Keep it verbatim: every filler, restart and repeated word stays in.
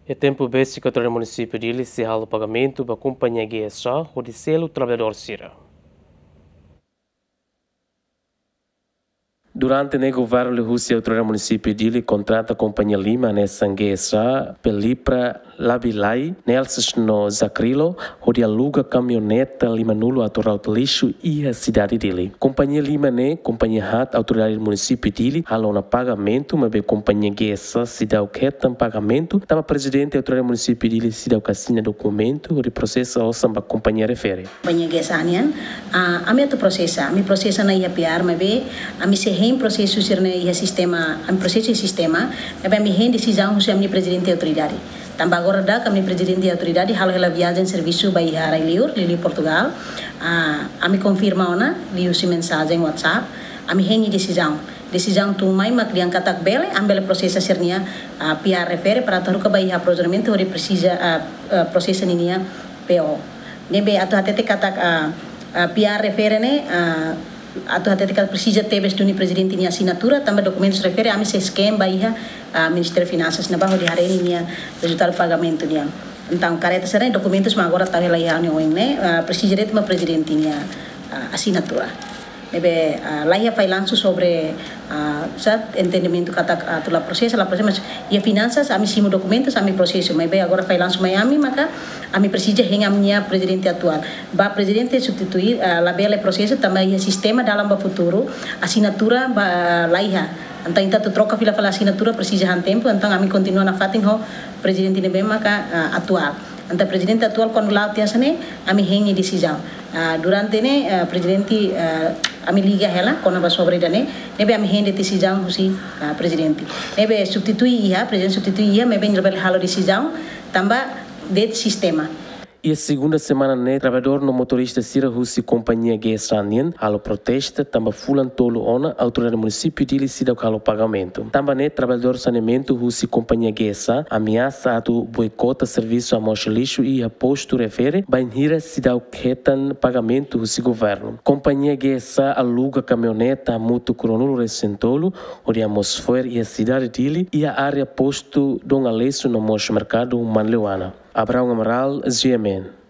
Iha tempu besik Autoridade Munisípiu Dili sei halo pagamentu ba kompañia G S A hodi selu traballadór sira. Durante ne'e governu liuhusi Autoridade Munisípiu Dili kontrata kompañia lima hanesan G S A, Pelipra, Labilai, Nelsis no Zakrilo, hodi aluga kamioneta lima-nulu atu rauta lixu iha sidade Dili. Kompañia lima ne'e kompañia haat Autoridade Munisípiu Dili halo ona pagamentu, maibé kompañia G S A seidauk hetan pagamentu, tanba Prezidente Autoridade Munisípiu Dili seidauk asina dokumentu hodi prosesa osan ba kompañia refere. Kompañia G S A nian, ah, ami atu prosesa, ami prosesa ona iha P R, maibé ami sei hein prosesu sira-ne'e iha sistema, ami prosesa iha sistema, maibé ami hein desizaun husi ami-nia Prezidente Autoridade. Tanba agora daudaun ami-nia Prezidente Autoridade halo hela viajen servisu ba iha rai-liur, liuliu Portugal. Ah, ami konfirma ona liuhusi mensajen WhatsApp, ami hein nia desizaun. Desizaun tun mai mak dehan katak bele, ami bele prosesa sira-nia, ah, P R refere para atu haruka ba iha aprovisionamentu hodi presiza, ah, ah, prosesa ninia P O. Ne'ebé atu hatete katak, ah, ah, P R refere ne'e, ah, atu hatete katak presiza tebes duni Prezidente nia asinatura, tanba dokumentus refere ami sei scan ba iha, ah, Ministériu Finansas ne'ebá hodi haree ninia rezultadu pagamentu nian. Entaun, kareta sira-ne'e, dokumentus mak agora tau hela iha ha'u-nia oin ne'e, ah, presiza de'it mak Prezidente nia, ah, asinatura. Ne'ebé, ah, la iha failansu sobre, ah, sá, entendimentu katak, ah, atu la prosesa, la prosesa, mas iha finansas, ami simu dokumentus, ami prosesu, maibé agora failansu mai ami, maka ami presiza hein ami-nia Prezidente atuál. Ba Prezidente substitui, ah, labele prosesu, tanba iha sistema dalan ba futuru, asinatura ba, la iha. Entaun, ita atu troka fila fali asinatura, presiza han tempu, entaun ami kontinua nafatin ho Prezidente ne'ebé maka, ah, atuál. Entaun Prezidente atuál kuandu la'o tiha hanesan ne'e, ami hein nia desizaun. Ah, durante ne'e, ah, Prezidente, ah, ami liga hela, kona-ba sobre ida-ne'e, ne'ebé ami hein de'it desizaun husi, ah, Prezidente. Ne'ebé substitui iha, Prezidente substitui iha, maibé nia labele halo desizaun, tanba de'it sistema. Iha segunda semana ne'e, traballadór no motorista sira husi kompañia G S A nian halo protesta tanba fulan tolu ona Autoridade Munisípiu Dili seidauk halo pagamentu. Tanba ne'e, traballadór saneamentu husi kompañia G S A ameasa atu boikota servisu amoxa lixu iha postu refere, bainhira seidauk hetan pagamentu husi governu. Kompañia G S A aluga kamioneta hamutuk ruanulu-resin-tolu, hodi mós fo'er iha sidade Dili, iha área postu Dom Aleixo no mós merkadu Manleuana. Abraão Amaral, G M N.